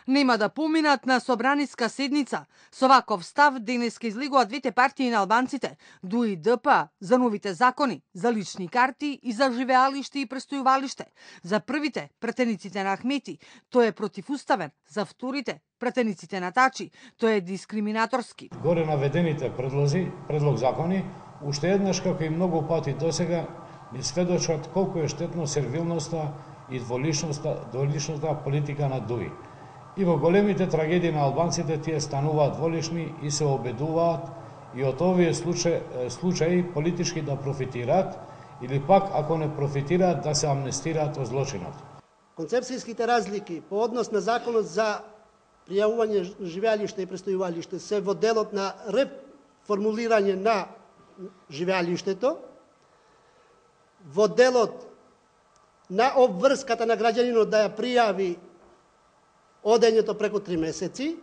Нема да поминат на собраниска седница. Со ваков став денеска излегуваат двете партии на албанците, ДУИ и ДП, за новите закони, за лични карти и за живеалиште и престојувалиште. За првите, пратениците на Ахмети, тој е противуставен, за вторите, пратениците на Тачи, тој е дискриминаторски. Горе наведените предлог закони, уште еднаш како и многу пати досега, ни сведочат колку е штетно сервилноста и дволичноста политика на ДУИ. И во големите трагедии на албанците тие стануваат дволични и се обедуваат и од овие случаи политички да профитираат или пак ако не профитираат да се амнестираат од злочинот. Концепцијските разлики по однос на законот за пријавување живеалиште и престојувалиште се во делот на реформулирање на живеалиштето, во делот на обврската на граѓанинот да ја пријави одењето преку 3 месеци,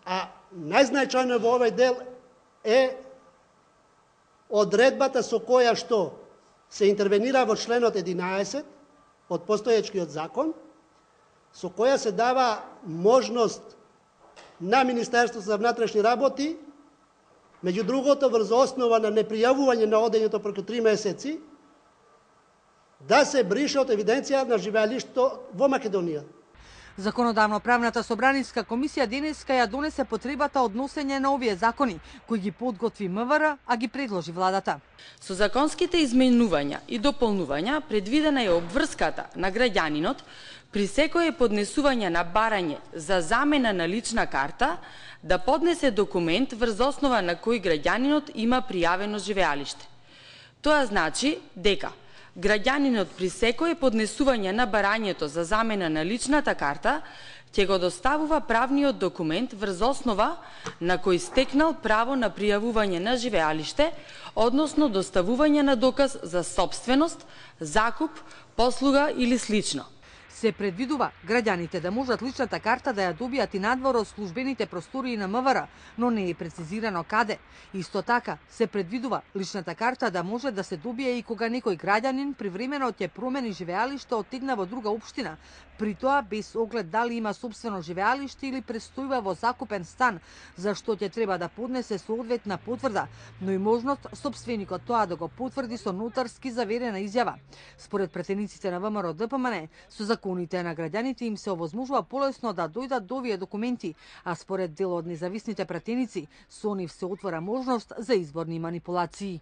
а најзначајно во овој дел е одредбата со која што се интервенира во членот 11 од постоечкиот закон, со која се дава можност на Министерството за внатрешни работи, меѓу другото врз основа на непријавување на одењето преку 3 месеци, да се брише од евиденција на живеалиштето во Македонија. Законодавно-правната собраниска комисија денеска ја донесе потребата од носење на овие закони, кои ги подготви МВР, а ги предложи владата. Со законските изменувања и дополнувања предвидена е обврската на граѓанинот при секое поднесување на барање за замена на лична карта да поднесе документ врз основа на кој граѓанинот има пријавено живеалиште. Тоа значи дека граѓанинот при секое поднесување на барањето за замена на личната карта ќе го доставува правниот документ врз основа на кој стекнал право на пријавување на живеалиште, односно доставување на доказ за сопственост, закуп, послуга или слично. Се предвидува граѓаните да можат личната карта да ја добијат и надвор од службените простории на МВР, но не е прецизирано каде. Исто така, се предвидува личната карта да може да се добие и кога некој граѓанин привремено ќе промени живеалиште оттегна во друга општина, при тоа без оглед дали има сопствено живеалиште или престојува во закупен стан, за што ќе треба да поднесе соодветна потврда, но и можност сопственикот тоа да го потврди со нотарски заверена изјава. Според претениците на ВМРО ДПМН, со законите на граѓаните им се овозможува полесно да дојдат до овие документи, а според дел од независните пратеници, со нив се отвора можност за изборни манипулации.